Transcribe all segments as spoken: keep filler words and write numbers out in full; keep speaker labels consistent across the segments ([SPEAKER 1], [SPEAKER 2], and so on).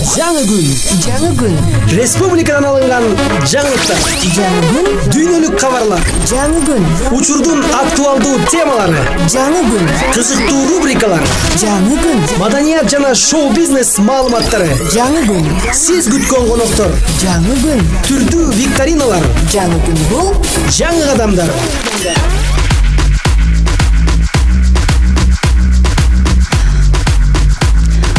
[SPEAKER 1] Жаңы күн.
[SPEAKER 2] Жаңы күн.
[SPEAKER 1] Республикадан алынган жаңылыктар.
[SPEAKER 2] Жаңы күн.
[SPEAKER 1] Дүйнөлүк кабарлар.
[SPEAKER 2] Жаңы күн.
[SPEAKER 1] Учурдун актуалдуу темалары.
[SPEAKER 2] Жаңы күн.
[SPEAKER 1] Кызыктуу рубрикалар.
[SPEAKER 2] Жаңы күн.
[SPEAKER 1] Маданият жана шоу-бизнес маалыматтары.
[SPEAKER 2] Жаңы күн.
[SPEAKER 1] Сиз күткөн коноктор.
[SPEAKER 2] Жаңы күн.
[SPEAKER 1] Түрдүү викториналар.
[SPEAKER 2] Жаңы күн бул
[SPEAKER 1] Жаңы кадамдар.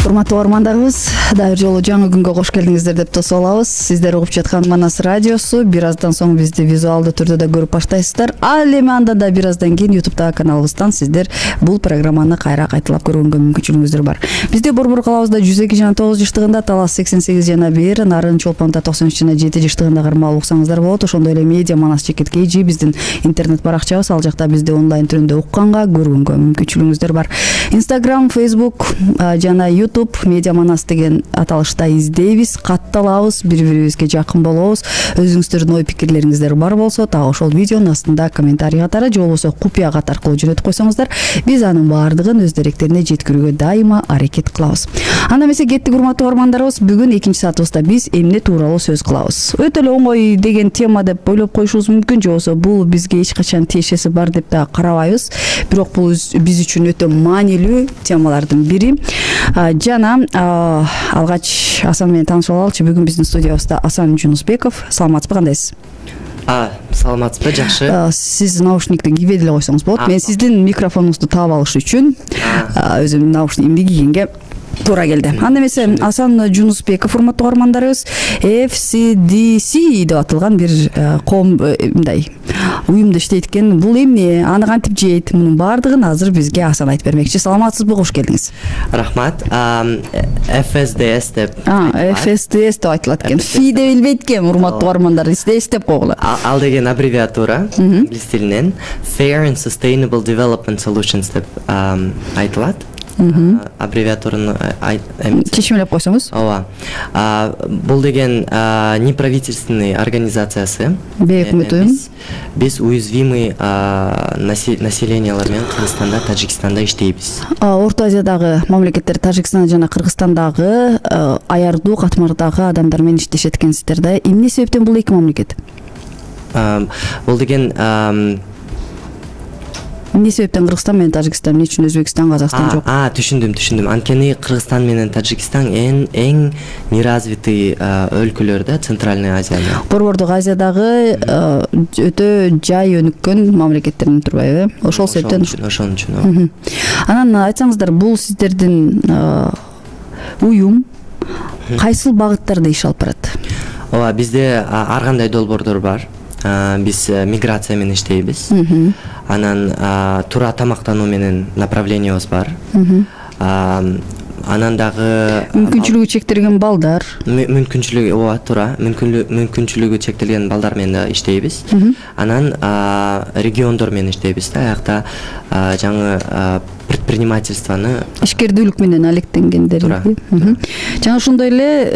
[SPEAKER 3] Урматтуу угармандарыбыз, дагы бир жолу жаңы күнгө кош келдиңиздер деп тосуп алабыз. Сиздер угуп жаткан Манас радиосу. Бир аздан соң бизди визуалдуу түрдө да көрүп баштайсыздар. Ал эми андан да бир аздан кийин YouTube'дагы каналыбыздан сиздер бул программаны кайра кайталап көргөнгө мүмкүнчүлүгүңүздөр бар. Бизде Борбор калабызда жүз эки жана тогуз жыштыгында, Талас сексен сегиз жана бир, Нарын Чолпонда токсон үч жана жети жыштыгында кармалып уксаңыздар болот. Ошондой эле Медиа Манас Чекит Кей биздин интернет баракчабыз. Ал жакта бизди онлайн түрүндө укканга, көргөнгө мүмкүнчүлүгүңүздөр бар. Instagram, Facebook жана YouTube Медиа Манас деген аталышта издейбиз, катталабыз, бири-бирибизге жакын болобуз. Өзүңүздөрдүн ой пикирлериңиздер бар болсо, так ошол видеонун астында комментарий катары же болбосо купуя кат аркылуу жөнөтүп койсоңуздар, биз анын баардыгын өз даректерине жеткирүүгө дайыма аракет кылабыз. Анда эмесе кеттик урматтуу угармандарыбыз, бүгүн экинчи саатыбызда биз эмне тууралуу сөз кылабыз. Өтө эле оңой деген тема деп ойлоп коюшубуз мүмкүн, же болбосо бул бизге эч качан тиешеси бар деп да карабайбыз. Бирок бул биз үчүн өтө маанилүү темалардын бири. Жана алгач Асан менен таанышып алалычы. Бүгүн биздин студиябызда Асан Жунусбеков. Саламатсызбы, кандайсыз?
[SPEAKER 4] А, саламатсызбы, жакшы.
[SPEAKER 3] Сиз наушникти кийбей деле койсоңуз болот. Мен сиздин микрофонуңузду таап алыш үчүн өзүм наушникти кийгенге туура келди. Анда эмесе Асан Жунусбеков, урматтуу угармандарыбыз, эф си ди си деп аталган бир коом мындай уюмда иштейт экен. Бул эмне, аны кантип жейт, мунун баардыгын азыр бизге Асан айтып бермекчи. Саламатсызбы, кош келдиңиз.
[SPEAKER 4] Рахмат. эф эс ди эс деп.
[SPEAKER 3] эф эс ди эс деп айтылат экен. Фи деп билбейт экен урматтуу угармандар. Эс деп койгула.
[SPEAKER 4] Ал деген аббревиатура инглиз тилинен Fair and Sustainable Development Solutions деп айтылат. Аббревиатураны
[SPEAKER 3] чечимелеп койсоңуз.
[SPEAKER 4] Ооба. Бул деген неправительственный организациясы.
[SPEAKER 3] Бейөкмөт уюм.
[SPEAKER 4] Биз уязвимый населениялар менен Кыргызстанда, Тажикстанда иштейбиз.
[SPEAKER 3] Орто Азиядагы мамлекеттер, Тажикстан жана Кыргызстандагы аярдуу катмардагы адамдар менен иштешет экенсиздер да. Эмне себептен бул эки мамлекет?
[SPEAKER 4] Бул деген
[SPEAKER 3] эмне себептен Кыргызстан менен Тажикстан, эмне үчүн Өзбекстан, Казакстан жок?
[SPEAKER 4] А, түшүндүм, түшүндүм. Анткени Кыргызстан менен Тажикстан эң эң неразвитый өлкөлөр да, Центральный Азияда.
[SPEAKER 3] Борбордук Азиядагы өтө жай өнүккөн мамлекеттерден турбайбы? Ошол себептен.
[SPEAKER 4] Ошон үчүн.
[SPEAKER 3] Анан айтсаңыздар, бул сиздердин уюм кайсыл багыттарда иш алып барат?
[SPEAKER 4] Ооба, бизде ар кандай долбоордор бар. Биз миграция менен иштейбиз. Анан туура тамактануу менен направлениябыз бар. Анан дагы
[SPEAKER 3] мүмкүнчүлүгү чектелген балдар.
[SPEAKER 4] Мүмкүнчүлүгү, ооба, туура. Мүмкүнчүлүгү чектелген балдар менен иштейбиз. Анан региондор менен иштейбиз да. Аякта жаңы предпринимательствону,
[SPEAKER 3] ишкердүүлүк менен алектенгендер. Жана ошондой эле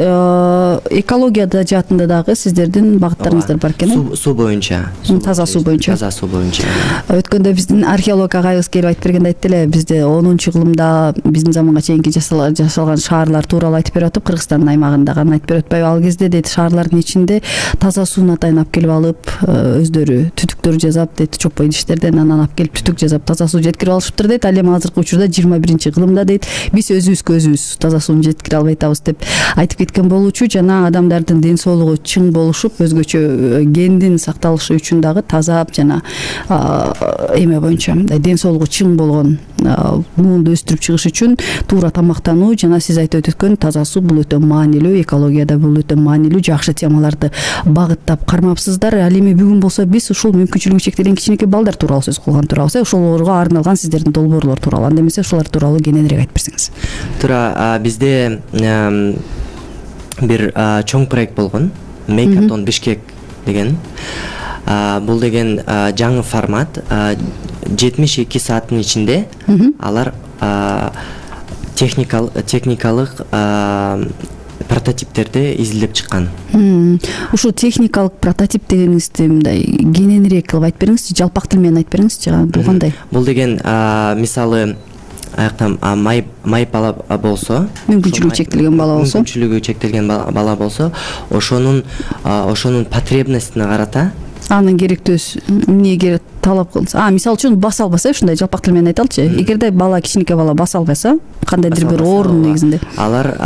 [SPEAKER 3] экологияда жаатында дагы сиздердин багыттарыңыздар бар экен.
[SPEAKER 4] Суу боюнча.
[SPEAKER 3] Таза суу боюнча.
[SPEAKER 4] Таза суу боюнча.
[SPEAKER 3] Өткөндө биздин археолог агайыбыз келип айтып бергенде айтты эле, бизде онунчу кылымда биздин заманга чейинки жасалган шаарлар тууралуу айтып берип атып, Кыргызстандын аймагындагы айтып берип атпайбы? Ал кезде дейт, шаарлардын ичинде таза сууну атайын алып келип алып, өздөрү түтүктөр жасап дейт, чопой идиштерден анан алып келип түтүк жасап таза суу жеткирип алышыптыр дейт. Ал эми азыркы учурда жыйырма биринчи кылымда дейт, биз өзүбүзгө өзүбүз таза сууну жеткире албай атабыз деп айтып кеткен болчу. Жана адамдардын ден соолугу чың болушуп, өзгөчө гендин сакталышы үчүн дагы таза жана эме боюнча ден соолугу чың болгон муунду өстүрүп чыгыш үчүн туура тамактануу жана сиз айтып өткөн таза суу бул өтө маанилүү, экологияда бул өтө маанилүү, жакшы темаларды багыттап кармапсыздар. Ал эми бүгүн болсо биз ушул мүмкүнчүлүгү чектелген кичинекей балдар тууралуу сөз кылган турабыз. Ошолорго арналган сиздердин долбоорлор тууралуу. Анда эмесе ошолор тууралуу кененирээк айтып берсеңиз.
[SPEAKER 4] Туура, бизде бир чоң проект болгон, Мейкатон Бишкек деген. Бул деген жаңы формат. жетимиш эки сааттын ичинде алар техникалык прототиптерди изилдеп чыккан.
[SPEAKER 3] Ушу техникалык прототип дегениңизди мындай кененирээк кылып айтып бериңизчи, жалпак тил менен айтып бериңизчи, бул кандай?
[SPEAKER 4] Бул деген мисалы аяктан май май бала болсо,
[SPEAKER 3] мүмкүнчүлүгү чектелген бала болсо,
[SPEAKER 4] мүмкүнчүлүгү чектелген бала болсо, ошонун ошонун потребностуна карата
[SPEAKER 3] анын керектөөсү эмнеге талап кылса, а мисалы үчүн баса албаса, ушундай жалпак тил менен айталычы, эгерде бала кичинекей бала баса албаса, кандайдыр бир оорунун негизинде
[SPEAKER 4] алар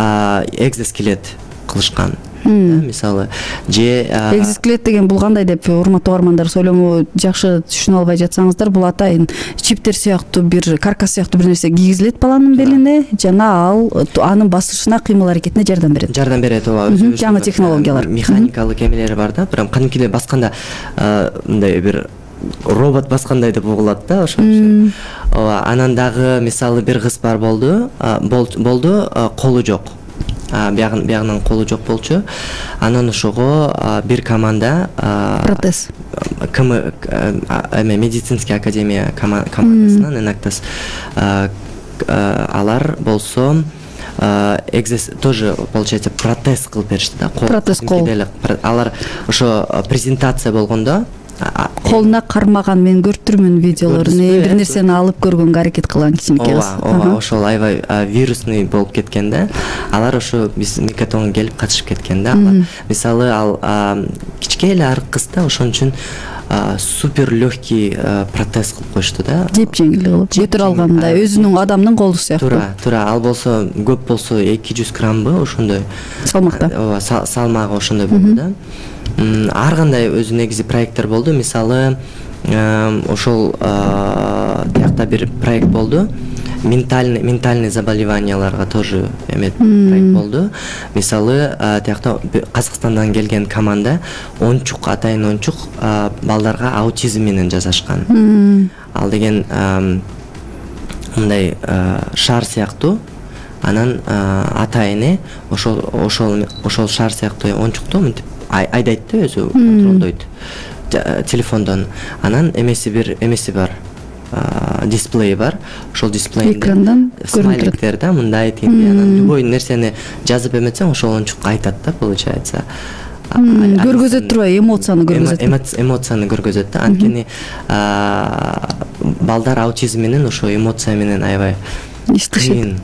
[SPEAKER 4] экзоскелет кылышкан. Мисалы, же
[SPEAKER 3] экзоскелет деген бул кандай деп урматтуу угармандар ойломо жакшы түшүнө албай жатсаңыздар, бул атайын чиптер сыяктуу бир каркас сыяктуу бир нерсе кийгизилет баланын белине, жана ал анын басышына, кыймыл аракетине жардам берет.
[SPEAKER 4] Жардам берет, ооба.
[SPEAKER 3] Жаңы технологиялар.
[SPEAKER 4] Механикалык эмелери бар да, прям кадимкидей басканда мындай бир робот баскандай деп угулат да, ошон. Ооба, анан дагы мисалы бир кыз бар болду, болду, колу жок. Биягын биягынан колу жок болчу. Анан ошого бир команда
[SPEAKER 3] протез
[SPEAKER 4] км эме медицинский академия командасынан энактас алар болсо экзес тоже получается протез кылып беришти да,
[SPEAKER 3] протез кол.
[SPEAKER 4] Алар ошо презентация болгондо
[SPEAKER 3] колуна кармаган, мен көрүптүрмүн видеолорун, бир нерсени алып көргөнгө аракет кылган кичинекей кыз.
[SPEAKER 4] Ооба, ошол аябай вирусный болуп кеткен да. Алар ошо биз Мекатонго келип катышып кеткен да. Мисалы ал кичке эле арык кыз да, ошон үчүн супер легкий протез кылып коюшту да.
[SPEAKER 3] Жеп жеңил кылып, көтөрө алгандай, өзүнүн адамдын колу сыяктуу.
[SPEAKER 4] Туура, туура. Ал болсо көп болсо эки жүз граммбы, ошондой
[SPEAKER 3] салмакта.
[SPEAKER 4] Ооба, салмагы ошондой болду да. Ар кандай өзү негизи проекттер болду. Мисалы, ошол тиякта бир проект болду. Ментальный ментальный заболеванияларга тоже эме проект болду. Мисалы, тиякта Казакстандан келген команда ончук, атайын ончук балдарга аутизм менен жасашкан. Ал деген мындай шар сыяктуу. Анан атайыны ошол ошол ошол шар сыяктуу ончукту мынтип айдайт да, өзү контролдойт телефондон. Анан эмеси бир эмеси бар, дисплей бар. Ошол дисплейде
[SPEAKER 3] экрандан
[SPEAKER 4] смайликтер да, мындай тиңдей, анан любой нерсени жазып эметсең ошол ончук айтат да, получается.
[SPEAKER 3] Көргөзөт турбайбы, эмоцияны көргөзөт.
[SPEAKER 4] Эмоцияны көргөзөт да. Анткени балдар аутизм менен ошо эмоция менен аябай
[SPEAKER 3] иштешет.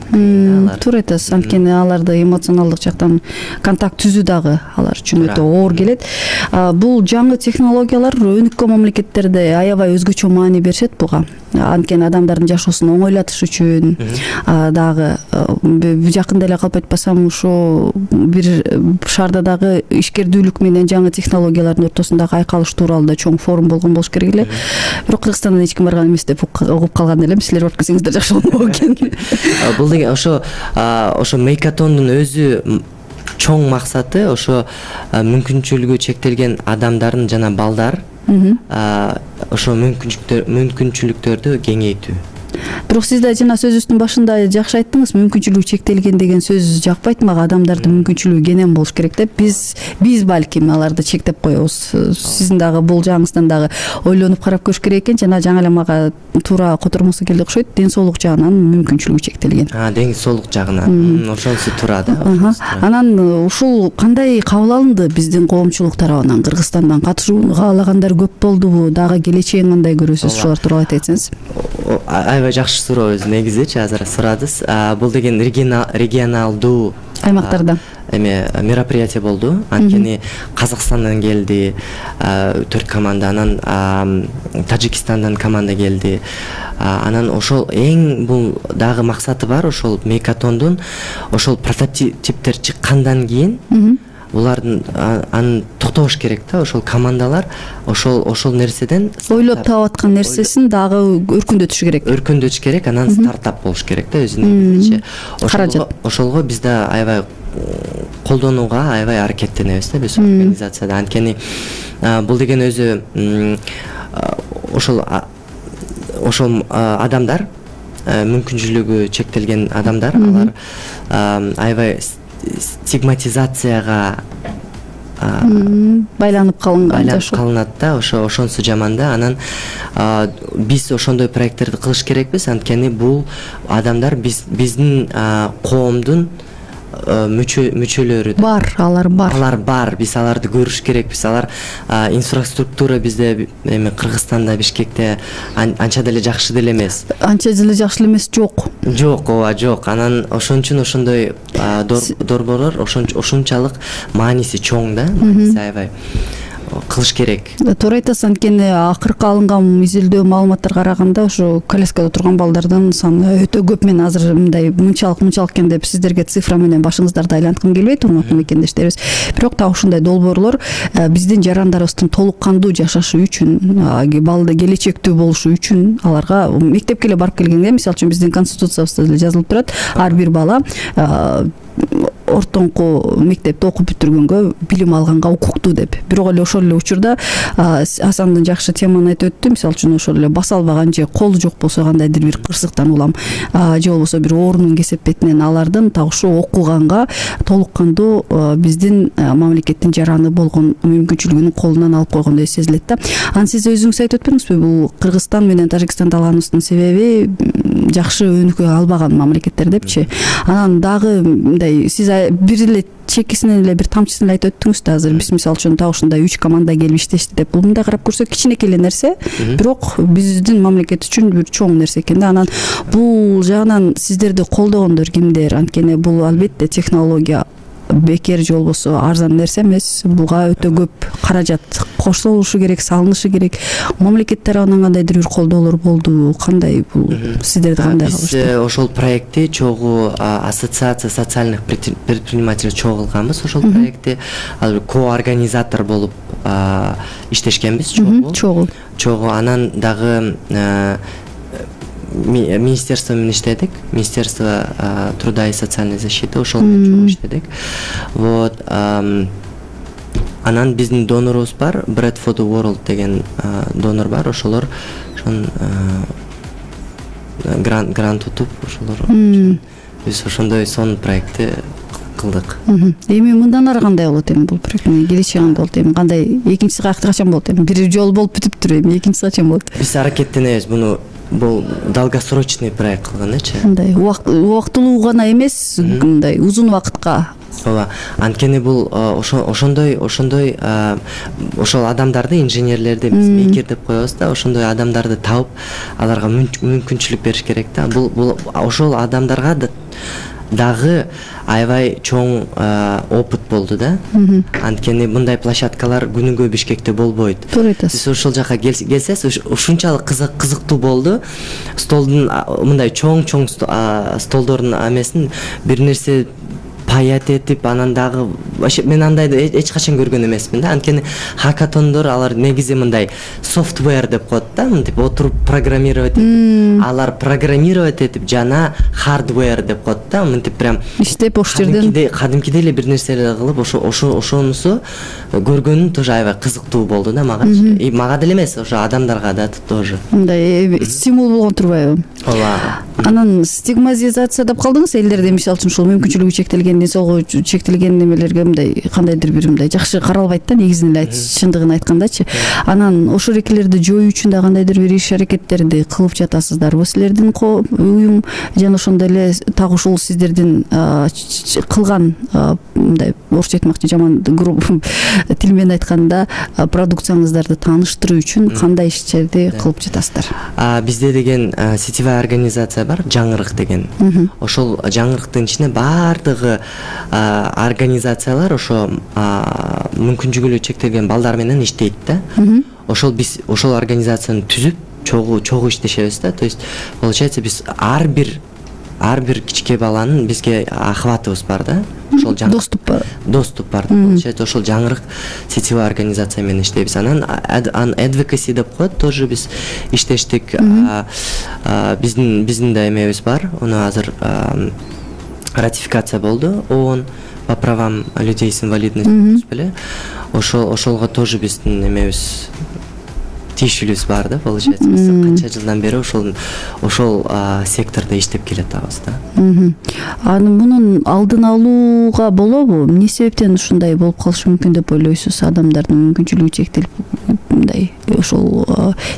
[SPEAKER 3] Туура айтасыз. Анткени аларды эмоционалдык жактан контакт түзүү дагы алар үчүн өтө оор келет. Бул жаңы технологиялар өнүккөн мамлекеттерде аябай өзгөчө маани беришет буга. Анткени адамдардын жашоосун оңойлатыш үчүн дагы жакында эле калп айтпасам ошо бир шаарда дагы ишкердүүлүк менен жаңы технологиялардын ортосундагы айкалыш тууралуу да чоң форум болгон болуш керек эле. Бирок Кыргызстандан эч ким барган эмес деп угуп калган элем. Силер барып келсеңиздер жакшы болмок экен.
[SPEAKER 4] Бул деген ошо ошо Мейкатондун өзү чоң максаты ошо мүмкүнчүлүгү чектелген адамдардын жана балдар ошо мүмкүнчүлүктөр мүмкүнчүлүктөрдү кеңейтүү.
[SPEAKER 3] Бирок сиз да жана сөзүбүздүн башында жакшы айттыңыз, мүмкүнчүлүгү чектелген деген сөз жакпайт мага. Адамдардын мүмкүнчүлүгү кенен болуш керек деп биз биз балким аларды чектеп коебуз. Сиздин дагы бул жаңысынан дагы ойлонуп карап көрүш керек экен. Жана жаңы эле мага туура котормосу келди окшойт. Ден соолук жагынан мүмкүнчүлүгү чектелген.
[SPEAKER 4] А, ден соолук жагынан. Ошонусу туура да.
[SPEAKER 3] Анан ушул кандай кабыл алынды биздин коомчулук тарабынан? Кыргызстандан катышууну каалагандар көп болдубу? Дагы келечегин кандай көрөсүз? Шулар тууралуу айта кетсеңиз.
[SPEAKER 4] Аябай жакшы суроо өзү негизичи азыр сурадыз. Бул деген регионалдуу
[SPEAKER 3] аймактарда
[SPEAKER 4] эме мероприятие болду. Анткени Казакстандан келди төрт команда, анан Тажикстандан команда келди. Анан ошол эң бул дагы максаты бар, ошол Мейкатондун ошол прототиптер чыккандан кийин булардын аны токтобош керек да, ошол командалар ошол ошол нерседен
[SPEAKER 3] ойлоп таап аткан нерсесин дагы өркүндөтүш керек.
[SPEAKER 4] Өркүндөтүш керек, анан стартап болуш керек да өзүнүн негизичи. Ошолго ошолго биз да аябай колдонууга аябай аракеттенебиз да биз организацияда. Анткени бул деген өзү ошол ошол адамдар, мүмкүнчүлүгү чектелген адамдар, алар аябай стигматизацияга
[SPEAKER 3] байланып калынган
[SPEAKER 4] байланып калынат да, ошо ошонусу жаман да. Анан биз ошондой проекттерди кылыш керекпиз, анткени бул адамдар биз биздин коомдун мүчө мүчөлөрү
[SPEAKER 3] бар, алар бар.
[SPEAKER 4] Алар бар. Биз аларды көрүш керекпиз. Алар инфраструктура bizde эми Кыргызстанда, Бишкекте анча деле жакшы деле эмес.
[SPEAKER 3] Анча деле жакшы эмес жок.
[SPEAKER 4] Жок, ооба, жок. Анан ошон үчүн ошондой дорборлор ошончалык мааниси чоң да, мааниси аябай кылыш керек.
[SPEAKER 3] Туура айтасыз, анткени акыркы алынган изилдөө маалыматтарга караганда ошо коляскада турган балдардын саны өтө көп. Мен азыр мындай мынчалык мынчалык экен деп сиздерге цифра менен башыңыздарды айланткым келбейт, урматтуу мекендештерибиз. Бирок так ушундай долбоорлор биздин жарандарыбыздын толук кандуу жашашы үчүн, балды келечектүү болушу үчүн аларга мектепке эле барып келгенде, мисалы үчүн биздин конституциябызда деле жазылып турат, ар бир бала ортоңку мектепти окуп бүтүргөнгө, билим алганга укуктуу деп. Бирок эле ошол эле учурда Асандын жакшы теманы айтып өттү. Мисалы үчүн ошол эле баса албаган же колу жок болсо, кандайдыр бир кырсыктан улам же болбосо бир оорунун кесепетинен алардын так ушул окуганга толук кандуу биздин мамлекеттин жараны болгон мүмкүнчүлүгүн колунан алып койгондой сезилет да. Анан сиз өзүңүз айтып өтпөңүзбү, бул Кыргызстан менен Тажикстанды алганыбыздын себеби жакшы өнүкө албаган мамлекеттер депчи. Анан дагы мындай сиз бир эле чекисинен эле бир тамчысын эле айтып өттүңүз да. Азыр биз мисалы үчүн так ушундай үч команда келип иштешти деп. Бул мындай карап көрсөк кичинекей эле нерсе, бирок биздин мамлекет үчүн бир чоң нерсе экен да. Анан бул жагынан сиздерди колдогондор кимдер? Анткени бул албетте технология бекер же болбосо арзан нерсе эмес. Буга өтө көп каражат кошулушу керек, салынышы керек. Мамлекет тарабынан кандайдыр бир колдоолор болду? Кандай бул сиздерди кандай кылышты?
[SPEAKER 4] Биз ошол проектти чогуу ассоциация социальных предпринимателей чогулганбыз. Ошол проектти коорганизатор болуп иштешкенбиз. Чогуу.
[SPEAKER 3] Чогуу.
[SPEAKER 4] Чогуу. Анан дагы министерство менен иштедик. Министерство труда и социальной защиты ошол менен иштедик. Вот. Анан биздин донорубуз бар, Bread for the World деген донор бар. Ошолор ошон грант грант утуп ошолор биз ошондой сон проектти кылдык.
[SPEAKER 3] Эми мындан ары кандай болот эми бул проекттин келечеги кандай болот эми? Кандай экинчиси качан болот эми? Бир жолу болуп бүтүптүр, эми экинчиси качан болот?
[SPEAKER 4] Биз аракеттенебиз буну бул долгосрочный проект кылгандачы.
[SPEAKER 3] Мындай убактылуу гана эмес, мындай узун убакытка.
[SPEAKER 4] Ооба. Анткени бул ошондой ошондой ошол адамдарды, инженерлерди биз мейкер деп коебуз да, ошондой адамдарды таап, аларга мүмкүнчүлүк бериш керек да. Бул бул ошол адамдарга дагы аябай чоң опыт болду да. Анткени мындай площадкалар күнүгө Бишкекте болбойт.
[SPEAKER 3] Туура айтасыз.
[SPEAKER 4] Сиз ошол жака келсеңиз, ушунчалык кызыктуу болду. Столдун мындай чоң-чоң столдордун амесин бир нерсе паят этип, анан дагы вообще мен андайды эч качан көргөн эмесмин да. Анткени хакатондор алар негизи мындай софтвер деп коет да, мынтип отуруп программировать этип, алар программировать этип жана хардвер деп коет да, мынтип прям
[SPEAKER 3] иштеп ош жерден
[SPEAKER 4] кадимкидей эле бир нерселер кылып, ошо ошо ошонусу көргөнүм тоже аябай кызыктуу болду да магачы. И мага деле эмес, ошо адамдарга да тоже.
[SPEAKER 3] Мындай стимул болгон турбайбы?
[SPEAKER 4] Ооба.
[SPEAKER 3] Анан стигматизация деп калдыңыз, элдерде мисалы үчүн ушул мүмкүнчүлүгү чектелген, денсаулыгы чектелген немелерге мындай кандайдыр бир мындай жакшы каралбайт да, негизин эле чындыгын айткандачы. Анан ошол эркелерди жоюу үчүн да кандайдыр бир иш аракеттерди кылып жатасыздарбы? Силердин уюм жана ошондой эле так ушул сиздердин кылган мындай орусча айтмакчы жаман тил менен айтканда продукцияңыздарды тааныштыруу үчүн кандай иштерди кылып жатасыздар?
[SPEAKER 4] Бизде деген сетевая организация бар, Жаңырык деген. Ошол жаңырыктын ичине баардыгы организациялар ошо мүмкүнчүлүгү чектелген балдар менен иштейт да. Ошол биз ошол организацияны түзүп чогуу чогуу иштешебиз да. То есть получается биз ар бир ар бир кичке баланын бизге охватыбыз бар да. Ошол жаңырык доступ бар. Доступ бар. Получается ошол жаңырык сетевая организация менен иштейбиз. Анан advocacy деп коет, тоже биз иштештик. Биздин биздин да эмебиз бар. Уну азыр ратификация болду ООН по правам людей с инвалидностью беле. Ошол ошолго тоже биздин эмебиз тиешелүүбүз бар да, получается. Биз канча жылдан бери ошол ошол сектордо иштеп келатабыз да.
[SPEAKER 3] Анан мунун алдын алууга болобу? Эмне себептен ушундай болуп калышы мүмкүн деп ойлойсуз? Адамдардын мүмкүнчүлүгү чектелип мындай ошол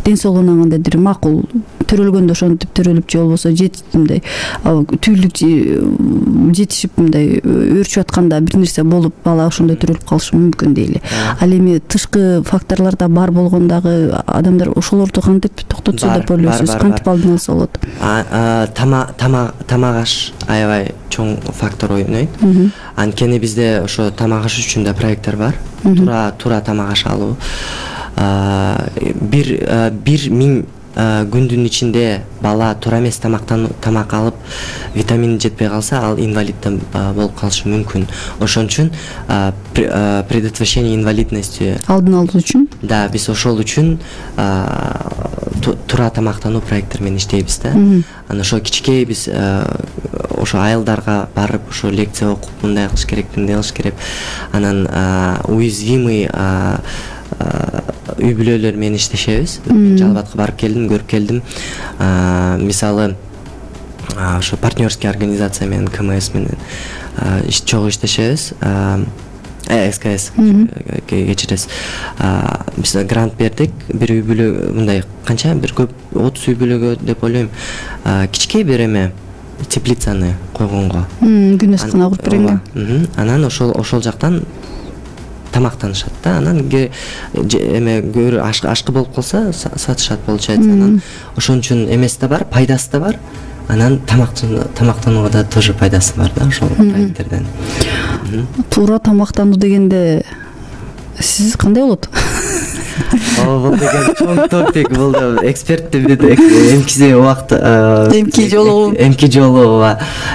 [SPEAKER 3] ден соолугуна кандайдыр макул төрөлгөндө ошентип төрөлүп же болбосо жетип мындай түйүлдүк жетишип мындай өөрчүп атканда бир нерсе болуп бала ошондой төрөлүп калышы мүмкүн дейли. Ал эми тышкы факторлор да бар болгон дагы адамдар ошолорду кантип токтотсо деп ойлойсуз, кантип алдын алса болот?
[SPEAKER 4] Тамак аш аябай чоң фактор ойнойт. Анткени бизде ошо тамак аш үчүн да проекттер бар. Туура туура тамак аш алуу. Бир бир миң күндүн ичинде бала туура эмес тамактан тамак алып витамин жетпей калса, ал инвалидден болуп калышы мүмкүн. Ошон үчүн предотвращение инвалидности
[SPEAKER 3] алдын алуу үчүн
[SPEAKER 4] да биз ошол үчүн туура тамактануу проекттер менен иштейбиз да. Анан ошо кичикей биз ошо айылдарга барып ошо лекция окуп мындай кылыш керек, мындай кылыш керек. Анан уязвимый үй бүлөлөр менен иштешебиз. Жалал Абадка барып келдим, көрүп келдим. Мисалы ошо партнерский организация менен КМС менен чогуу иштешебиз. СКС кечиресиз. Биз грант бердик. Бир үй бүлө мындай канча бир көп отуз үй бүлөгө деп ойлойм. Кичикей бир эме теплицаны койгонго.
[SPEAKER 3] Күнөс кана куруп бергенге.
[SPEAKER 4] Анан ошол ошол жактан тамактанышат да. Анан эме көрү ашкы болуп калса сатышат получается. Анан ошон үчүн эмеси да бар, пайдасы да бар. Анан тамактанууга да тоже пайдасы бар да ошол проекттерден.
[SPEAKER 3] Туура тамактануу дегенде сиз кандай болот?
[SPEAKER 4] Бул деген чоң топик, бул экспертти эмки убакыт
[SPEAKER 3] эмки жолу
[SPEAKER 4] эмки жолу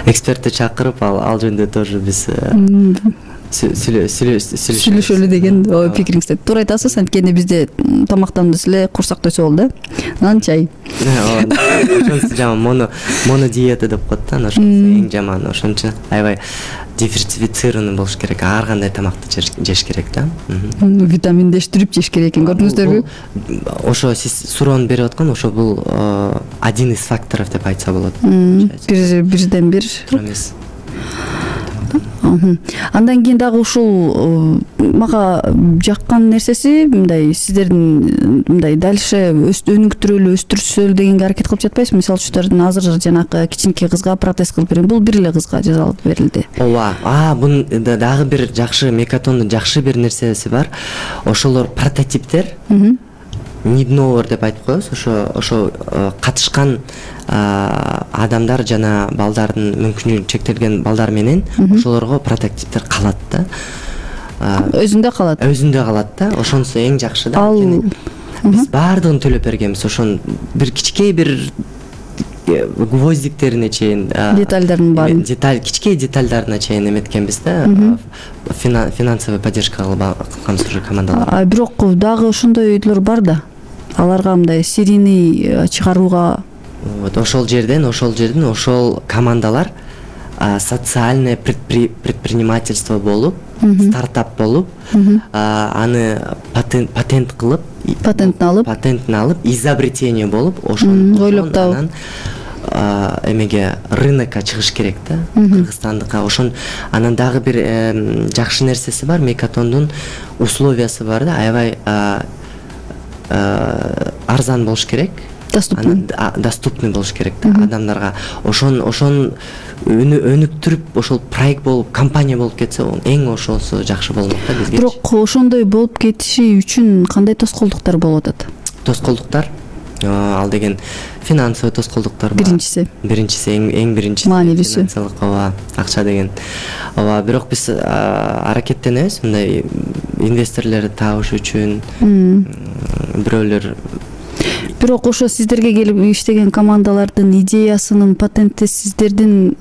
[SPEAKER 4] экспертти чакырып ал жөнүндө тоже биз
[SPEAKER 3] сүйлөшөлү деген пикириңизде туура айтасыз. Анткени бизде тамактанды эле курсак тойсо болду э, нан чай.
[SPEAKER 4] Ошонусу жаман, моно моно диета деп коет да, ошонусу эң жаман. Ошон үчүн аябай диверсифицированный болуш керек, ар кандай тамакты жеш керек да.
[SPEAKER 3] Витаминдештирип жеш керек экен, көрдүңүздөрбү?
[SPEAKER 4] Ошо сиз суроону берип аткан, ошо бул один из факторов деп айтса болот.
[SPEAKER 3] Бир бирден бир.
[SPEAKER 4] Эмес.
[SPEAKER 3] Андан кийин дагы ушул мага жаккан нерсеси мындай сиздердин мындай дальше өнүктүрөлү, өстүрсөлү дегенге аракет кылып жатпайсызбы? Мисалы үчүн азыр жанакы кичинекей кызга протез кылып берген, бул бир эле кызга жазалып берилди.
[SPEAKER 4] Ооба, а бунун дагы бир жакшы мекатондун жакшы бир нерсеси бар. Ошолор прототиптер. Нидновер деп айтып коебуз. Ошо ошо катышкан адамдар жана балдардын мүмкүнчүлүгү чектелген балдар менен ошолорго прототиптер калат да.
[SPEAKER 3] Өзүндө калат.
[SPEAKER 4] Өзүндө калат да. Ошонусу эң жакшы да. Биз баардыгын төлөп бергенбиз. Ошон бир кичикей бир гвоздиктерине чейин,
[SPEAKER 3] детальдардын баарын,
[SPEAKER 4] деталь кичикей детальдарына чейин эметкенбиз да. Финансовый поддержка кылганбыз уже командаларга.
[SPEAKER 3] Бирок дагы ошондой үйлөр бар да. Аларга мындай серийный чыгарууга
[SPEAKER 4] вот ошол жерден, ошол жерден ошол командалар социальное предпринимательство болуп, стартап болуп, аны патент патент кылып,
[SPEAKER 3] патентин алып,
[SPEAKER 4] патентин алып, изобретение болуп, ошону
[SPEAKER 3] ойлоп табып
[SPEAKER 4] эмеге рынокко чыгыш керек да, Кыргызстандыкка. Ошон анан дагы бир жакшы нерсеси бар, Мекатондун условиясы бар да, аябай арзан болуш керек.
[SPEAKER 3] Доступный.
[SPEAKER 4] Доступный болуш керек да адамдарга. Ошон ошон өнүктүрүп, ошол проект болуп, компания болуп кетсе, эң ошосу жакшы болмок да бизге.
[SPEAKER 3] Бирок ошондой болуп кетиши үчүн кандай тоскоолдуктар болуп атат?
[SPEAKER 4] Тоскоолдуктар ал деген финансовый тоскоолдуктар бар.
[SPEAKER 3] Биринчиси.
[SPEAKER 4] Биринчиси эң эң биринчиси финансылык, ооба, акча деген. Ооба, бирок биз аракеттенебиз мындай инвесторлорду табыш үчүн. Бирөөлөр
[SPEAKER 3] Бирок ошо сиздерге келип иштеген командалардын идеясынын патенти сиздердин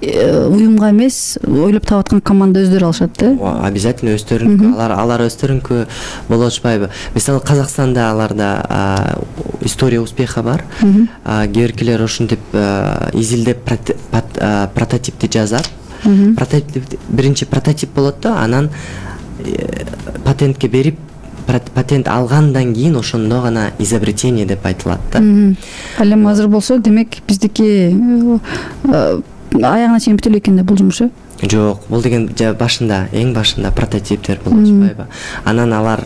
[SPEAKER 3] уюмга эмес, ойлоп табаткан команда өздөрү алышат да?
[SPEAKER 4] Обязательно өздөрүнкү. Алар алар өздөрүнкү боло атышпайбы? Мисалы Казакстанда аларда история успеха бар. Кээбиркилер ошентип изилдеп прототипти жазат. Прототип биринчи прототип болот да, анан патентке берип, патент алгандан кийин ошондо гана изобретение деп айтылат да.
[SPEAKER 3] Ал эми азыр болсо, демек биздики аягына чейин бүтө элек экен да бул жумуш э?
[SPEAKER 4] Жок, бул деген башында, эң башында прототиптер болуп атпайбы. Анан алар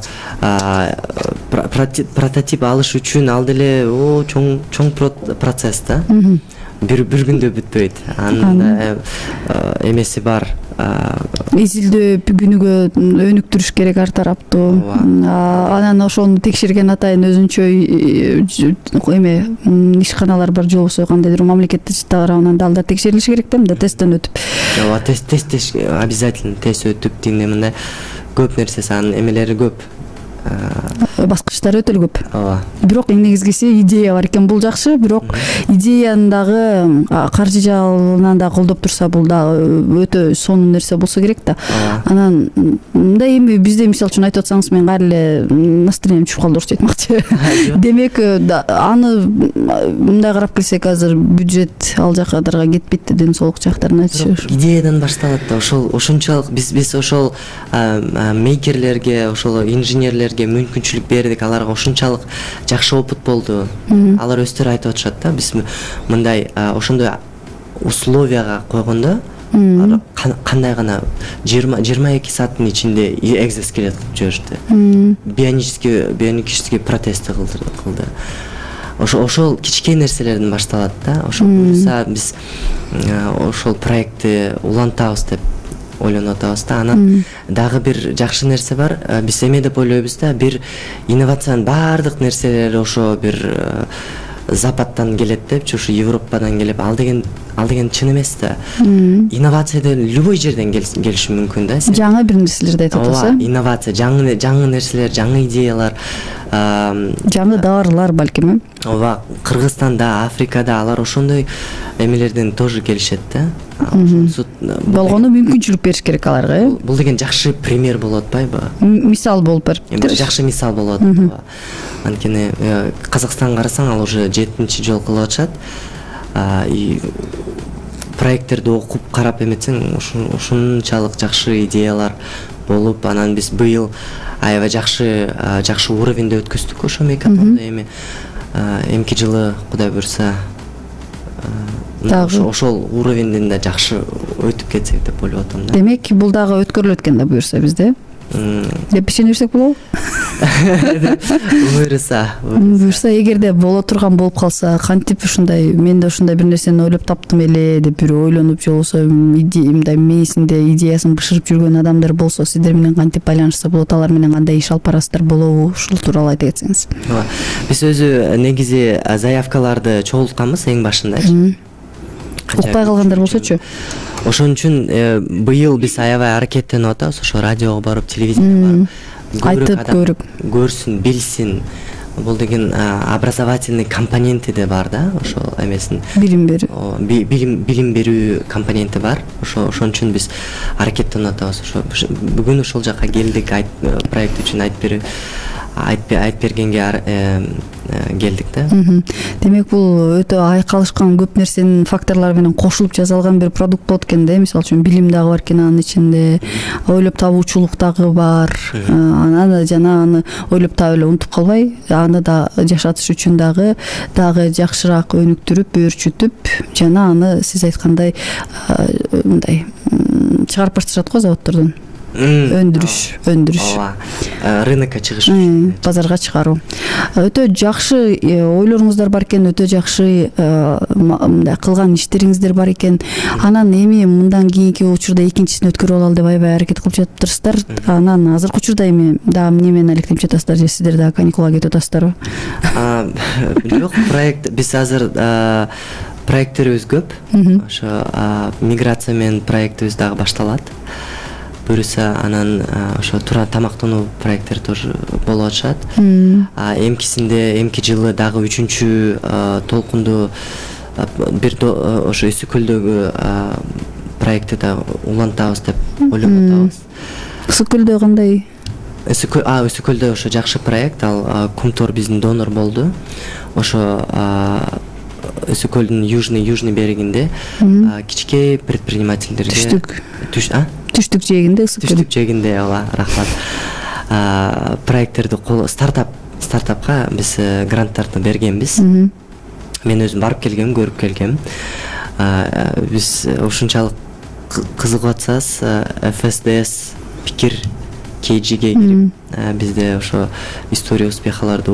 [SPEAKER 4] прототип алыш үчүн ал деле о чоң чоң процесс да. Бир бир күндө бүтпөйт. Анын эмеси бар.
[SPEAKER 3] Изилдөө, күнүгө өнүктүрүш керек ар тараптуу. Анан ошону текшерген атайын өзүнчө эме ишканалар бар же болбосо кандайдыр мамлекеттик тарабынан да алдар текшерилиши керек да, мындай тесттен өтүп.
[SPEAKER 4] Ооба, тест тест обязательно тест өтүп тигине мындай көп нерсеси, анын эмелери көп.
[SPEAKER 3] Баскычтары өтө көп.
[SPEAKER 4] Ооба.
[SPEAKER 3] Бирок эң негизгиси идея бар экен, бул жакшы, бирок идеяны дагы каржы жагынан да колдоп турса бул дагы өтө сонун нерсе болсо керек да. Анан мындай эми бизде мисалы үчүн айтып атсаңыз мен кайра эле настроением түшүп калды орусча айтмакчы. Демек аны мындай карап келсек азыр бюджет ал жактарга кетпейт да, ден соолук жактарына түшүш.
[SPEAKER 4] Идеядан башталат да, ошол ошончолук биз биз ошол мейкерлерге, ошол инженерлерге мүмкүнчүлүк бердик, аларга ошончолук жакшы опыт болду. Алар өздөрү айтып атышат да, биз мындай ошондой условияга койгондо кандай гана жыйырма жыйырма эки сааттын ичинде экзоскелет кылып жиберишти. Бионический бионический протезди кылды. Ошол ошол кичкей нерселерден башталат да. Ошол буюрса биз ошол проектти улантабыз деп ойлонуп атабыз да. Анан дагы бир жакшы нерсе бар. Биз эме деп ойлойбуз да, бир инновациянын баардык нерселери ошо бир Западтан келет депчи, ошо Европадан келип, ал деген ал деген чын эмес да. Инновация любой жерден келиши мүмкүн да.
[SPEAKER 3] Жаңы бир нерселерди айтып атасыз.
[SPEAKER 4] Ооба, инновация, жаңы жаңы нерселер, жаңы идеялар,
[SPEAKER 3] жаңы дарылар балким.
[SPEAKER 4] Ооба, Кыргызстанда, Африкада алар ошондой эмелерден тоже келишет да.
[SPEAKER 3] Болгону мүмкүнчүлүк бериш керек аларга, э?
[SPEAKER 4] Бул деген жакшы пример болот атпайбы?
[SPEAKER 3] Мисал болуп бериптир.
[SPEAKER 4] Жакшы мисал болот. Анткени Казакстанга карасаң, ал уже жетинчи жолу кылып атышат. И проекттерди окуп карап эметсең, ошончолук жакшы идеялар болуп, анан биз быйыл аябай жакшы жакшы уровеньде өткөздүк ошо мейкатонду. Эми эмки жылы Кудай буйрса ошол уровеньден да жакшы өтүп кетсек деп ойлоп атам да.
[SPEAKER 3] Демек, бул дагы өткөрүлөт экен да буйрса бизде. Деп ишене берсек болобу?
[SPEAKER 4] Буйрса,
[SPEAKER 3] буйрса, эгерде боло турган болуп калса, кантип ушундай, мен да ушундай бир нерсени ойлоп таптым эле деп бир ойлонуп, же болбосо мындай мээсинде идеясын бышырып жүргөн адамдар болсо, сиздер менен кантип байланышса болот, алар менен кандай иш алып барасыздар болобу? Ушул тууралуу айта кетсеңиз.
[SPEAKER 4] Ооба. Биз өзү негизи заявкаларды чогултканбыз эң башында.
[SPEAKER 3] Укпай калгандар болсочу.
[SPEAKER 4] Ошон үчүн быйыл биз аябай аракеттенип атабыз, ошо радиого барып, телевидениеге барып,
[SPEAKER 3] айтып көрүп
[SPEAKER 4] көрсүн, билсин. Бул деген образовательный компоненти да бар да, ошол эмесин.
[SPEAKER 3] Билим берүү.
[SPEAKER 4] Билим билим берүү компоненти бар. Ошо ошон үчүн биз аракеттенип атабыз. Ошо бүгүн ошол жака келдик, проект үчүн айтып берүү айтып бергенге келдик да.
[SPEAKER 3] Демек, бул өтө айкалышкан көп нерсенин факторлору менен кошулуп жасалган бир продукт болот экен да. Мисалы үчүн билим дагы бар экен анын ичинде, ойлоп табуучулук дагы бар. Анан жана аны ойлоп таап эле унутуп калбай, аны да жашатыш үчүн дагы дагы жакшыраак өнүктүрүп, өөрчүтүп, жана аны сиз айткандай мындай чыгарып башташат го заводдордон. Өндүрүш, өндүрүш.
[SPEAKER 4] Ооба. Рынокко чыгыш,
[SPEAKER 3] базарга чыгаруу. Өтө жакшы ойлоруңуздар бар экен, өтө жакшы мындай кылган иштериңиздер бар экен. Анан эми мындан кийинки учурда экинчисин өткөрүп алалы деп аябай аракет кылып жатыптырсыздар. Анан азыркы учурда эми дагы эмне менен алектенип жатасыздар, же сиздер дагы каникулга кетип атасыздарбы?
[SPEAKER 4] Жок, проект биз азыр проекттерибиз көп. Ошо миграция менен проектибиз дагы башталат. Буюрса, анан ошо туура тамактануу проекттери тоже болуп атышат. Эмкисинде эмки жылы дагы үчүнчү толкунду бир ошо Үсү көлдөгү проектти да улантабыз деп ойлоп атабыз.
[SPEAKER 3] Үсү көлдө кандай?
[SPEAKER 4] Үсү көлдө ошо жакшы проект, ал Кумтор биздин донор болду. Ошо Үсү көлдүн южный южный берегинде кичкей предпринимательдерге
[SPEAKER 3] түштүк.
[SPEAKER 4] Түш, а?
[SPEAKER 3] Түштүк жээгинде, Үсү
[SPEAKER 4] түштүк жээгинде, ооба, рахмат. Проекттерди стартап стартапка биз гранттарды бергенбиз. Мен өзүм барып келгем, көрүп келгем. биз ушунчалык кызыгып атсаңыз эф эс ди эс пикир кей джиге кирип бизде ошо история успехаларды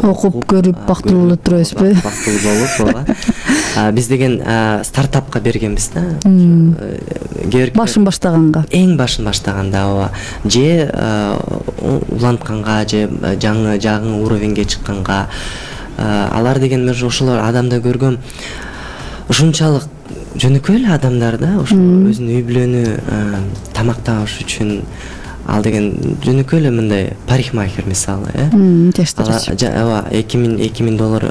[SPEAKER 3] окуп көрүп бактылуу болуп турабызбы?
[SPEAKER 4] Бактылуу болуп, ооба. Биз деген стартапка бергенбиз да.
[SPEAKER 3] Башын баштаганга.
[SPEAKER 4] Эң башын баштаганда, ооба. Же улантканга, же жаңы жаңы уровеньге чыкканга, алар деген мен ошолор адамда көргөм ушунчалык жөнөкөй эле адамдар да, ошо өзүнүн үй бүлөнү тамакташ үчүн ал деген жөнөкөй эле мындай парикмахер мисалы, э? Ооба, эки миң доллар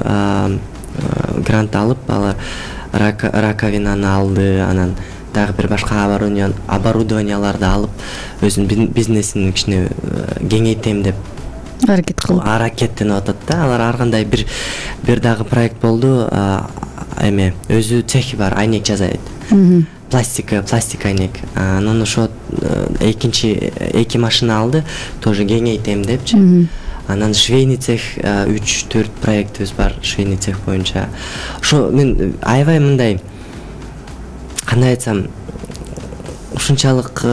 [SPEAKER 4] грант алып, алар раковинаны алды, анан дагы бир башка оборудованияларды алып, өзүнүн бизнесин кичине кеңейтем деп
[SPEAKER 3] аракет кылып
[SPEAKER 4] аракеттенип атат да. Алар ар кандай бир бир дагы проект болду, эме өзү цехи бар, айнек жасайт. Пластика, пластик айнек. Анан ошо экинчи эки машина алды, тоже кеңейтем депчи. Анан швейный цех үч төрт проектибиз бар, швейный цех боюнча. Ошо мен аябай мындай кандай айтсам, ушунчалык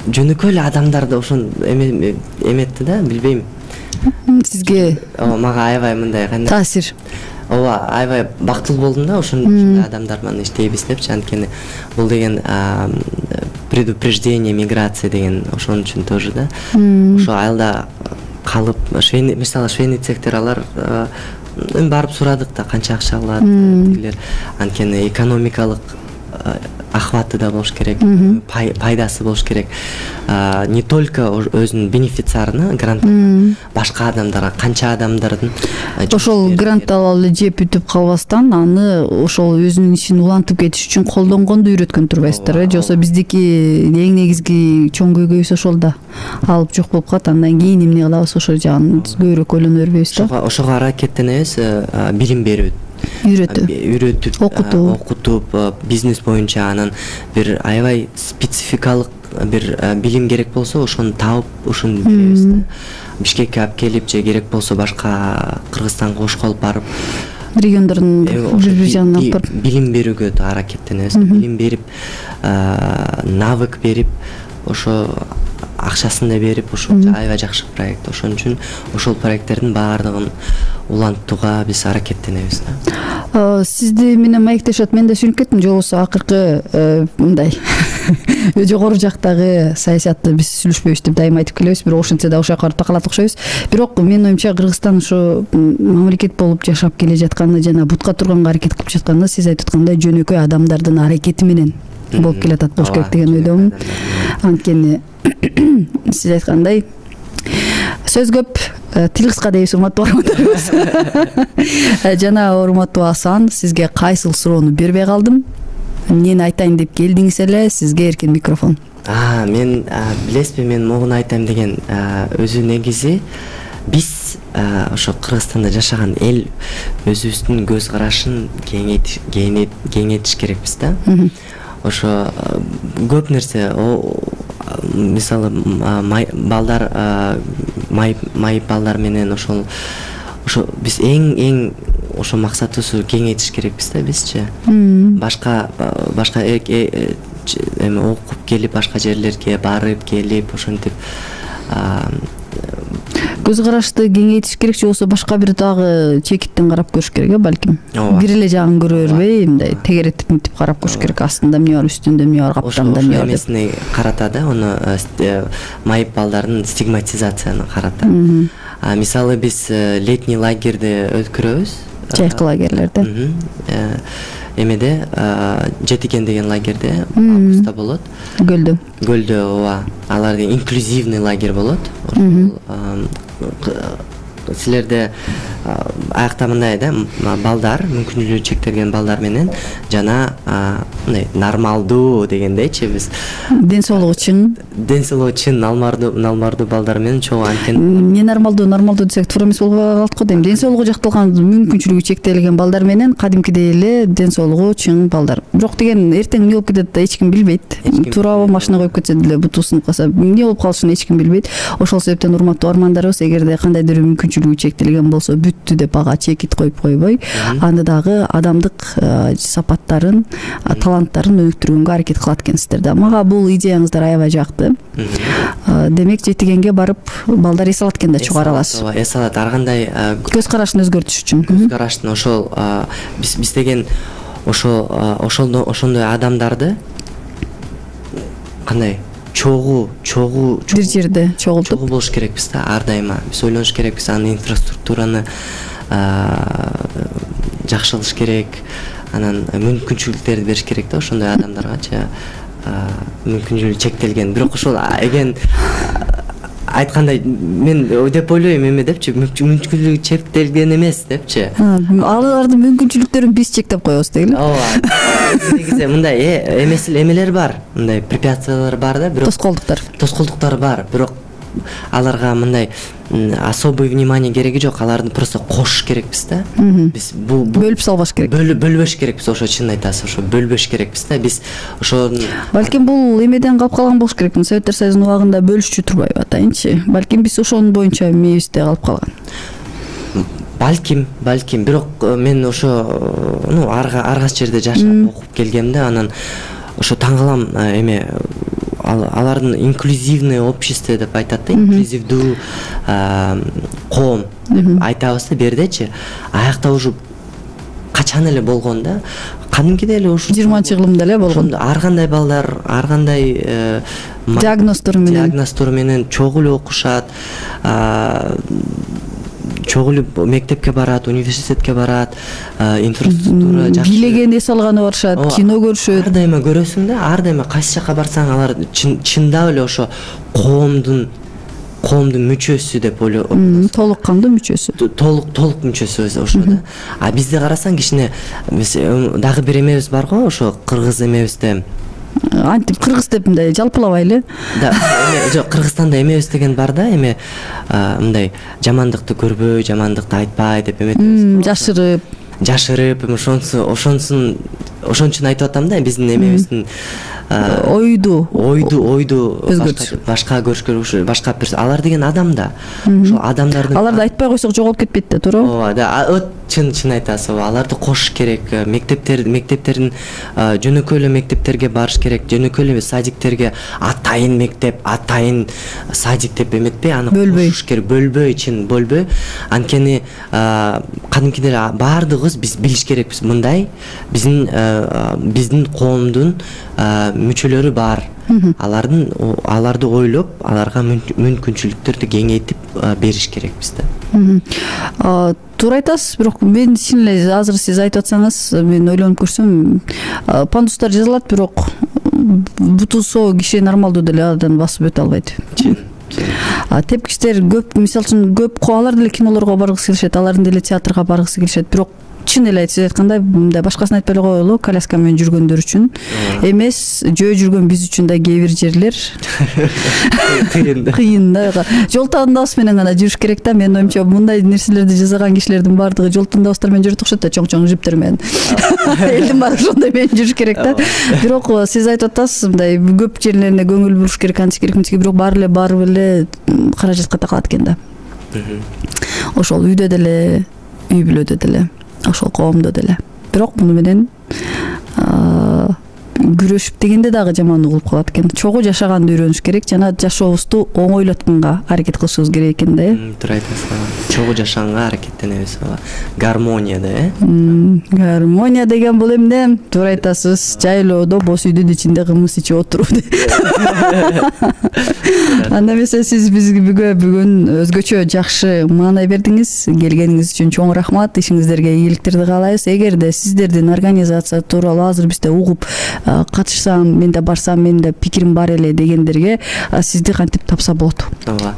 [SPEAKER 4] жөнөкөй эле адамдарды ошон эметти да, билбейм.
[SPEAKER 3] Сизге
[SPEAKER 4] мага аябай мындай кандай
[SPEAKER 3] таасир.
[SPEAKER 4] Ооба, аябай бактылуу болдум да, ошондой адамдар менен иштейбиз депчи. Анткени бул деген предупреждение миграции деген ошон үчүн тоже да. Ошо айылда калып, швейный, мисалы швейный цехтер алар барып сурадык да, канча акча алат тигилер. Анткени экономикалык ахваты да болуш керек, пайдасы болуш керек. Не только өзүнүн бенефициарына, грант, башка адамдарга, канча адамдардын
[SPEAKER 3] ошол грант алып эле жеп бүтүп калбастан, аны ошол өзүнүн ишин улантып кетиш үчүн колдонгонду үйрөткөн турбайсыздар, э? Жоксо биздики эң негизги чоң көйгөйүбүз ошол да. Алып жок болуп калат, андан кийин эмне кылабыз, ошол жагын көбүрөөк ойлоно бербейбиз да.
[SPEAKER 4] Ошого аракеттенебиз, билим берүү.
[SPEAKER 3] Үйрөтүп,
[SPEAKER 4] үйрөтүп,
[SPEAKER 3] окутуп,
[SPEAKER 4] окутуп, бизнес боюнча анан бир аябай спецификалык бир билим керек болсо, ошону таап, ошону беребиз да. Бишкекке алып келип, же керек болсо башка Кыргызстанга кошко алып барып,
[SPEAKER 3] региондордун бир жагына алып барып
[SPEAKER 4] билим берүүгө аракеттенебиз. Билим берип, навык берип, ошо акчасын да берип, ошо аябай жакшы проект. Ошон үчүн ошол проекттердин баардыгын улантууга биз аракеттенебиз да.
[SPEAKER 3] Сизди менен маектешет, мен да сүйлөп кеттим, жобосу акыркы мындай жогору жактагы саясатты биз сүйлөшпөйбүз деп дайыма айтып келебиз, бирок ошентсе да ошол жака барып такалат окшойбуз. Бирок менин оюмча Кыргызстан ошо мамлекет болуп жашап келе жатканы жана бутка турганга аракет кылып жатканда, сиз айтып аткандай жөнөкөй адамдардын аракети менен болуп келатат болуш керек деген ойдомун. Анткени сиз айткандай сөз көп, тил кыска дейбиз, урматтуу угармандарыбыз. Жана урматтуу Асан, сизге кайсыл суроону бербей калдым? Эмнени айтайын деп келдиңиз эле, сизге эркин микрофон.
[SPEAKER 4] А, мен билесизби, мен могуну айтайм деген өзү негизи биз ошо Кыргызстанда жашаган эл өзүбүздүн көз карашын кеңейтиш керекпиз да. Ошо көп нерсе, мисалы балдар, майып балдар менен ошол ошо биз эң эң ошо максатыбызды кеңейтиш керекпиз да бизчи. Башка башка эме окуп келип, башка жерлерге барып келип, ошентип
[SPEAKER 3] көз карашты кеңейтиш керек, же болбосо башка бир дагы чекиттен карап көрүш керек, э, балким. Бир эле жагын көрө бербей, мындай тегереттип мынтип карап көрүш керек. Астында эмне бар, үстүндө эмне бар, каптамда эмне бар деп.
[SPEAKER 4] Ошо эмесине карата да, аны майып балдардын стигматизацияны карата. Мисалы биз летний лагерьде өткөрөбүз.
[SPEAKER 3] Жайкы лагерлерде.
[SPEAKER 4] Эмеде Жетиген деген лагерде августта болот.
[SPEAKER 3] Гөлдө.
[SPEAKER 4] Гөлдө, ооба. Алардын инклюзивный лагерь болот. Ошол силерде аякта мындай да, балдар, мүмкүнчүлүгү чектелген балдар менен жана мындай нормалдуу дегендейчи биз.
[SPEAKER 3] Ден соолугу чың.
[SPEAKER 4] Ден соолугу чың нормалдуу, нормалдуу балдар менен чогуу анткени
[SPEAKER 3] эмне нормалдуу, нормалдуу десек туура эмес болуп калат го дейм. Ден соолугу жакталган, мүмкүнчүлүгү чектелген балдар менен кадимкидей эле ден соолугу чың балдар. Бирок деген эртең эмне болуп кетет да эч ким билбейт. Туурабы машина коюп кетсе деле буту сынып калса эмне болуп калышын эч ким билбейт. Ошол себептен урматтуу армандарыбыз, эгерде кандайдыр мүмкүнчүлүгү чектелген болсо, бүттү деп ага чекит коюп койбой, аны дагы адамдык сапаттарын, таланттарын өнүктүргөнгө аракет кылат экенсиздер да. Мага бул идеяңыздар аябай жакты. Демек жетигенге барып балдар эс алат экен да, чыгара аласыз.
[SPEAKER 4] Ооба, эс алат. Ар кандай
[SPEAKER 3] көз карашын өзгөртүш үчүн.
[SPEAKER 4] Көз караштын ошол биз биз деген ошол ошондой ошондой адамдарды кандай чогуу чогуу
[SPEAKER 3] бир жерде чогултуп
[SPEAKER 4] чогуу болуш керекпиз да, ар дайыма. Биз ойлонуш керекпиз, анын инфраструктураны жакшы кылыш керек, анан мүмкүнчүлүктөрдү бериш керек да ошондой адамдаргачы. Мүмкүнчүлүгү чектелген. Бирок ошол эген айткандай мен деп ойлойм эме депчи, мүмкүнчүлүгү чектелген эмес депчи.
[SPEAKER 3] Алардын мүмкүнчүлүктөрүн биз чектеп коебуз дейли.
[SPEAKER 4] Ооба. Негизи мындай эмес эмелер бар, мындай препятствиялар бар да, бирок
[SPEAKER 3] тоскоолдуктар.
[SPEAKER 4] Тоскоолдуктар бар, бирок аларга мындай особый внимание кереги жок, аларды просто кошуш керекпиз да. Биз бул
[SPEAKER 3] бөлүп салбаш керек.
[SPEAKER 4] Бөлбөш керекпиз, ошо чын айтасыз, ошо бөлбөш керекпиз да. Биз ошо
[SPEAKER 3] балким бул эмеден калып калган болуш керек. Советтер Союзунун убагында бөлүшчү турбайбы атайынчы? Балким биз ошонун боюнча мээбизде калып калган.
[SPEAKER 4] Балким, балким, бирок мен ошо, ну, аргас жерде жашап окуп келгем да, анан ошо таң калам эме алардын инклюзивное общество деп айтат да, инклюзивдүү коом деп айтабыз да бердечи. Аякта уже качан эле болгон да, кадимкиде эле ушу
[SPEAKER 3] жыйырманчы кылымда эле болгон.
[SPEAKER 4] Ар кандай балдар, ар кандай
[SPEAKER 3] диагноздор менен
[SPEAKER 4] диагноздор менен чогуу эле окушат, чогуу эле мектепке барат, университетке барат, инфраструктура жакшы.
[SPEAKER 3] Билеген эс алганы барышат, кино көрүшөт.
[SPEAKER 4] Ар дайыма көрөсүң да, ар дайыма кайсы жака барсаң алар чындап эле ошо коомдун коомдун мүчөсү деп ойлойм.
[SPEAKER 3] Толук кандуу мүчөсү.
[SPEAKER 4] Толук толук мүчөсү ошо да. А бизде карасаң кичине дагы бир эмебиз бар го, ошо кыргыз эмебизде.
[SPEAKER 3] Антип кыргыз деп мындай жалпылабайлы.
[SPEAKER 4] Да, жок, Кыргызстанда эмебиз деген бар да, эме мындай жамандыкты көрбөй, жамандыкты айтпай деп эметебиз.
[SPEAKER 3] Жашырып,
[SPEAKER 4] жашырып, ошонсу, ошонсун, ошон үчүн айтып атам да, биздин эмебиздин
[SPEAKER 3] ойду,
[SPEAKER 4] ойду, ойду башка көрүшкө, башка алар деген адам да. Ошол адамдардын
[SPEAKER 3] аларды айтпай койсок жоголуп кетпейт да, туура?
[SPEAKER 4] Ооба, да, чын чын айтасыз. Аларды кошуш керек. Мектептер мектептерин жөнөкөй эле мектептерге барыш керек. Жөнөкөй эле садиктерге атайын мектеп, атайын садик деп эметпей, аны кошуш керек. Бөлбөй, чын бөлбөй. Анткени кадимкиде баардыгыбыз биз билиш керекпиз. Мындай биздин биздин коомдун мүчөлөрү бар. Алардын аларды ойлоп, аларга мүмкүнчүлүктөрдү кеңейтип бериш керекпиз да.
[SPEAKER 3] Туура айтасыз, бирок мен чын эле азыр сиз айтып атсаңыз, мен ойлонуп көрсөм, пандустар жазылат, бирок буту соо киши нормалдуу деле адан басып өтө албайт. Тепкичтер көп, мисалы үчүн көп алар деле кинолорго баргысы келишет, алардын деле театрга баргысы келишет, бирок чын эле сиз айткандай, мындай башкасын айтпай эле коелу, коляска менен жүргөндөр үчүн эмес, жөө жүргөн биз үчүн да кээ бир жерлер кыйын да. Кыйын да. Жол тандабыз менен гана жүрүш керек да. Менин оюмча мындай нерселерди жасаган кишилердин баардыгы жол тандабыздар менен жүрөт окшойт да, чоң-чоң жиптер менен. Элдин баары ошондой менен жүрүш керек да. Бирок сиз айтып атасыз, мындай көп жерлерине көңүл буруш керек, антип керек, мынтип, бирок баары эле барып эле каражатка такалат экен да. Ошол үйдө деле, үй бүлөдө деле, ошол коомдо деле. Бирок муну менен күрөшүп дегенде дагы жаман угулуп калат экен. Чогуу жашаганды үйрөнүш керек жана жашообузду оңойлотконго аракет кылышыбыз керек экен да, э?
[SPEAKER 4] Туура айтасыз. Чогуу жашаганга аракеттенебиз. Гармония да, э?
[SPEAKER 3] Гармония деген бул эмне? Туура айтасыз. Жайлоодо боз үйдүн ичинде кымыз ичип отуруп. Анда эмесе сиз бизге бүгүн өзгөчө жакшы маанай бердиңиз. Келгениңиз үчүн чоң рахмат. Ишиңиздерге ийгиликтерди каалайбыз. Эгерде сиздердин организация тууралуу азыр бизде угуп катышсам, мен да барсам, менин да пикирим бар эле дегендерге сизди кантип тапса болот?
[SPEAKER 4] Ооба.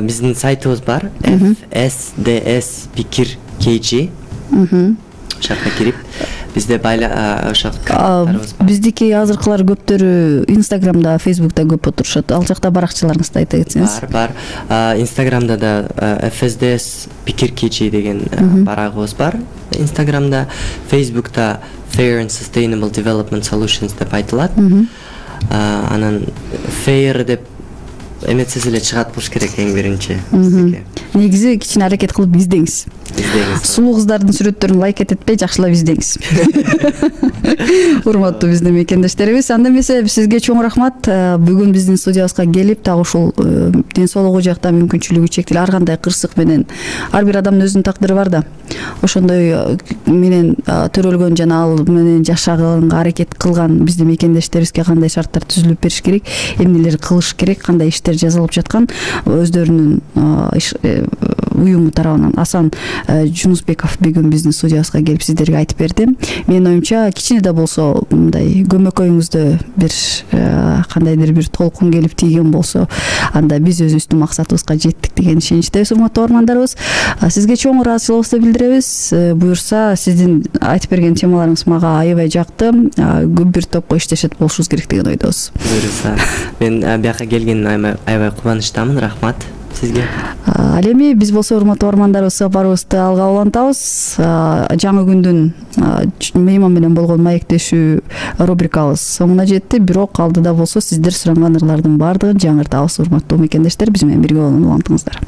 [SPEAKER 4] Биздин сайтыбыз бар, эф эс ди эс пикир кей джи. Ошакка кирип, бизде байла ошо карталарыбыз бар.
[SPEAKER 3] Биздики азыркылар көптөрү Инстаграмда, Фейсбукта көп отурушат. Ал жакта баракчаларыңызды айта кетсеңиз.
[SPEAKER 4] Бар, бар. Инстаграмда да эф эс ди эс пикир кей джи деген барагыбыз бар. Инстаграмда, Фейсбукта Fair and Sustainable Development Solutions деп айтылат. Анан Fair деп эметсиз эле чыгат болуш керек эң биринчи.
[SPEAKER 3] Негизи кичине аракет кылып издеңиз.
[SPEAKER 4] издеңиз.
[SPEAKER 3] Сулуу кыздардын сүрөттөрүн лайк этпей жакшылап издеңиз. Урматтуу биздин мекендештерибиз, анда эмесе сизге чоң рахмат. Бүгүн биздин студиябызга келип, дагы ушул ден соолугу жакта мүмкүнчүлүгү чектелүү ар кандай кырсык менен ар бир адамдын өзүнүн тагдыры бар да. Ошондой менен төрөлгөн жана ал менен жашаганга аракет кылган биздин мекендештерибизге кандай шарттар түзүлүп бериш керек, эмнелер кылыш керек, кандай иштер жазылып жаткан өздөрүнүн уюму тарабынан Асан Жунусбеков бүгүн биздин студиябызга келип сиздерге айтып берди. Менин оюмча кичине да болсо мындай көмөкөйүңүздө бир кандайдыр бир толкун келип тийген болсо, анда биз өзүбүздүн максатыбызга жеттик деген ишеничтебиз, урматтуу угармандарыбыз. Сизге чоң ыраазычылыгыбызды билдиребиз. Буюрса, сиздин айтып берген темаларыңыз мага аябай жакты. Көп бир топко иштешет болушубуз керек деген ойдобуз.
[SPEAKER 4] Буюрса, мен бияка келгениме аябай кубанычтамын. Рахмат сизге.
[SPEAKER 3] Ал эми биз болсо урматтуу угармандарыбыз сапарыбызды алга улантабыз. Жаңы күндүн мейман менен болгон маектешүү рубрикабыз соңуна жетти, бирок алдыда болсо сиздер суранган ырлардын баардыгын жаңыртабыз. Урматтуу мекендештер, биз менен бирге болуп улантыңыздар.